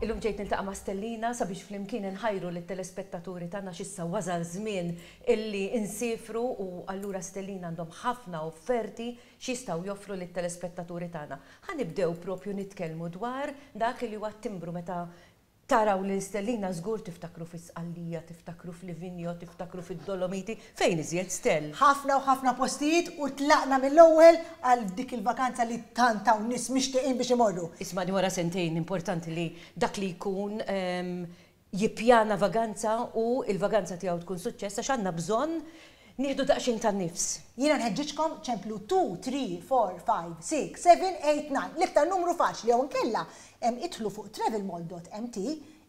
Illum ġejt niltaqa' ma' Stellina sabiex flimkien inħajru lit-telespettaturi tagħna għax issa wasal żmien illi nsiefru u allura Stellina għandhom ħafna offerti x'jistgħu joffru lit-telespettaturi tagħna. Ħa nibdew propju nitkellmu dwar dak li huwa t-timbru meta Taraw lil Stellina żgur tiftakru fi Sqallija, tiftakru f'Livigno, tiftakru fid-Dolomiti, fejn iżjed Stell? Ħafna u ħafna postijiet u tlaqna mill-ewwel għal dik il-vakanza li tant hawn nies mixtieqin biex imorru. Ismagħni wara sentejn importanti li dak li jkun jippjana vaganza u l-vaganza tiegħu tkun suċċess għax għandna bżonn nieħdu daqsxejn ta' nifs. Jiena nħeġġiġkom ċemplu two, three, four, five, six, seven, eight, nine, l-iktar numru faċli jew inkella idħlu fuq travelmall dot mt,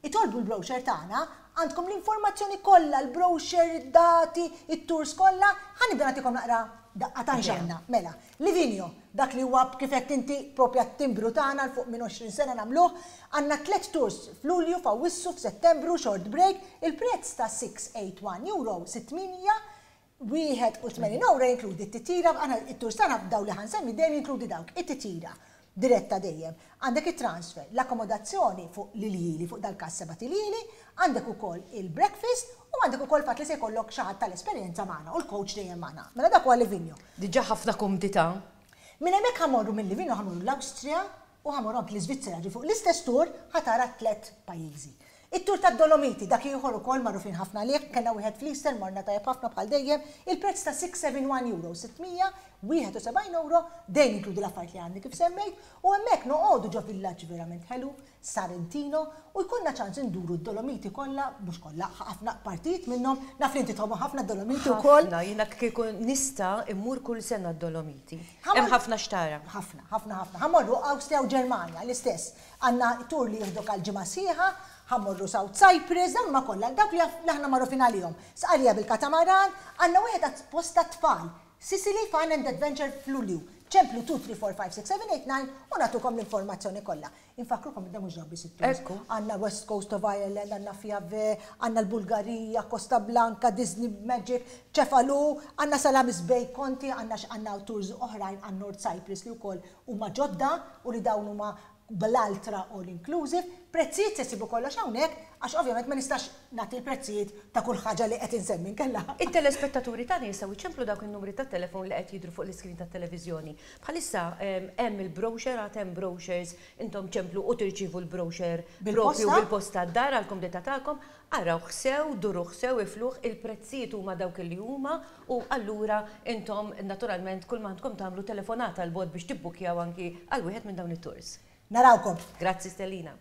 itolbu l-brochure tagħna, għandkom l-informazzjoni kollha, l-brochure, id-dati, it-tours kollha, ħa nibda nagħtikom naqra daqqa ta' x'għandna. Mela, Livigno, dak li huwa kif għedt inti propja t-timbru tagħna 'l fuq minn 20 sena nagħmluh, għandna tliet tours f'Lulju, f'Awwissu, f'Settembru, short break, il-prezz ta' 681 euro, 681 euro jinkludi t-titjira, aħna it-tours tagħna dawn li ħa nsemmi dejjem jinkludi dawk, it-titjira diretta dejjem, għandek it-transfer, l-akkomodazzjoni fuq l-iljieli, fuq dal-każ sebat iljieli, għandek ukoll il-breakfast u għandek ukoll il-fatt li se jkollok xi ħadd tal-esperjenza magħna u l-coach dejjem magħna. Mela dak huwa Livigno. Diġà ħafna kumdità. Minn hemmhekk ħa mmorru minn Livigno ħa mmorru l-Awstrija u ħa mmorru anki l-Iżvizzera, ġifieri fuq l-istess tour ħa tara t-tlett pajjiżi. It-tour tad-Dolomiti, dak ieħor ukoll magħrufin ħafna għalih, kellna wieħed fl-Easter, morna tajjeb ħafna bħal dejjem, il-prezz ta' 671 euro, 671 euro, dejjem jinkludi l-affarijiet li għandi kif semmejt, u hemmhekk noqogħdu ġo villaġġ verament ħelu, Sarentino, u jkollna ċans induru d-Dolomiti kollha, mhux kollha, ħafna partijiet minnhom, naf li inti tħobbhom ħafna d-Dolomiti wkoll. Ħafna, jiena kieku nista' immur kull sena d-Dolomiti. Hemm ħafna x'tara. Ħafna, ħafna, ħafna. Ħa mmorru Awstrija u Ġermanja, l-istess. Għandna tour li jieħdok għal ġimgħa sħiħa, ħa mmorru South Cyprus, dawn huma kollha dawk li aħna magħrufin għalihom. Sqallija bil-katamaran, għandna wieħed apposta għat-tfal, Sicily Fun and Adventure f'Lulju. Ċemplu 2 3 4 5 6 7 8 9 u nagħtukom l-informazzjoni kollha. Infakkrukom li dan mhux dawk biss it-tours. Għandna West Coast of Ireland, għandna Fiave, għandna l-Bulgarija, Costa Blanca, Disney Magic, Cefalù, għandna Salamis Bay, Conti, għandna għandna tours oħrajn għan North Cyprus li wkoll huma ġodda u li dawn huma bl-altra all inclusive, prezzijiet se ssibu kollox hawnhekk għax ovvjament ma nistax nagħti l-prezzijiet ta' kull ħaġa li qed insemmi inkella. It-telespettaturi tagħna jistgħu jċemplu dawk in-numri tat-telefon li qed jidhru fuq l-iskrin tat-televiżjoni. Bħalissa hemm il-brochure, għad hemm brochures, intom ċemplu u tirċievu l-brochure proprju bil-posta d-dar għall-kumdità tagħkom. Arawh sew, duruh sew, ifluh, il-prezzijiet huma dawk li huma u allura intom naturalment kull ma għandkom tagħmlu telefonata 'l bogħod biex tibbukkjaw anki għal wieħed minn dawn it-tours. Narawkom. Grazzi Stellina.